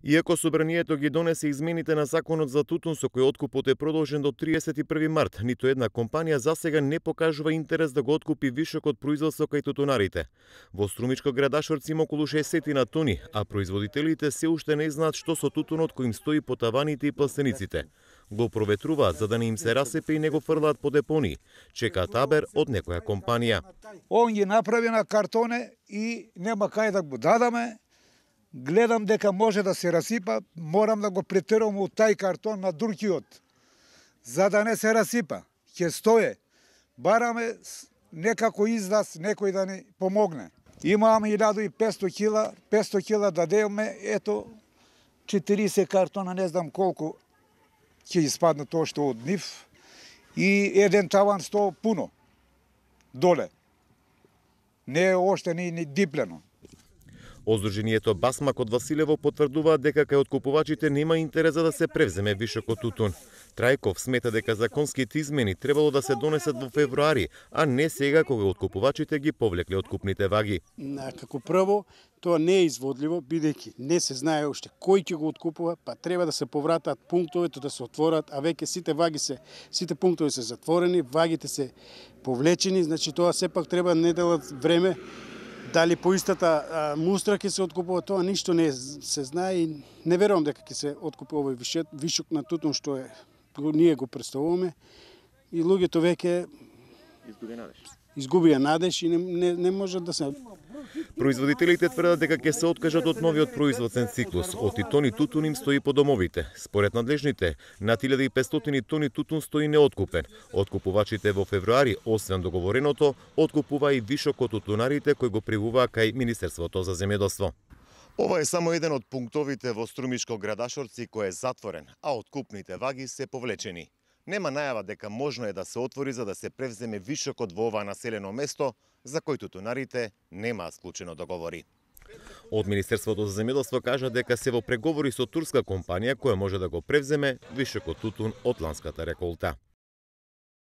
Иако собранието ги донесе измените на законот за тутун со кој откупот е продолжен до 31 март, ниту една компанија засега не покажува интерес да го откупи вишокот производство кај тутунарите. Во Струмичко Градашорци има околу 60 на тони, а производителите се уште не знаат што со тутунот кој им стои по таваните и пластениците. Го проветруваат за да не им се расепе и не го фрлаат по депонии. Чекаат абер од некоја компанија. Он ги направи на картоне и нема кај да го дадаме. Гледам дека може да се расипа, морам да го претерам од тај картон на другиот, за да не се расипа. Ќе стое. Бараме некако излаз, некој да ни помогне. Имаме 1500 кила да деме, ето 40 картона, не знам колку ќе испаднат ошто од нив и еден таван 100 пуно доле. Не е оште ни диплено. Оздруженијето Басмак од Василево потврдуваат дека кај откупувачите нема интерес за да се превземе вишокот тутун. Трајков смета дека законските измени требало да се донесат во февруари, а не сега кога откупувачите ги повлекле откупните ваги. Како прво, тоа не е изводливо, бидејќи не се знае уште кој ќе го откупува, па треба да се повратат пунктовите да се отворат, а веќе сите пунктови се затворени, вагите се повлечени, значи тоа сепак треба неделат време. Дали по истата мустра ќе се откупува, тоа ништо не се знае и не верувам дека ќе се откупува овој вишок на тутун што ние го представуваме и луѓето веќе изгубија надеж и не може да се. Производителите тврдат дека ќе се откажат од новиот производствен циклус. Од тони тутун им стои по домовите. Според надлежните, над 1500 тони тутун стои неоткупен. Откупувачите во февруари, освен договореното, откупува и вишокот тутунарите кои го привуваа кај Министерството за земјоделство. Ова е само еден од пунктовите во Струмичко Градашорци кој е затворен, а откупните ваги се повлечени. Нема најава дека можно е да се отвори за да се превземе вишокот во ова населено место, за кој тутунарите нема склучено договори. Од Министерството за земјоделство кажа дека се во преговори со турска компанија која може да го превземе вишокот тутун од ланската реколта.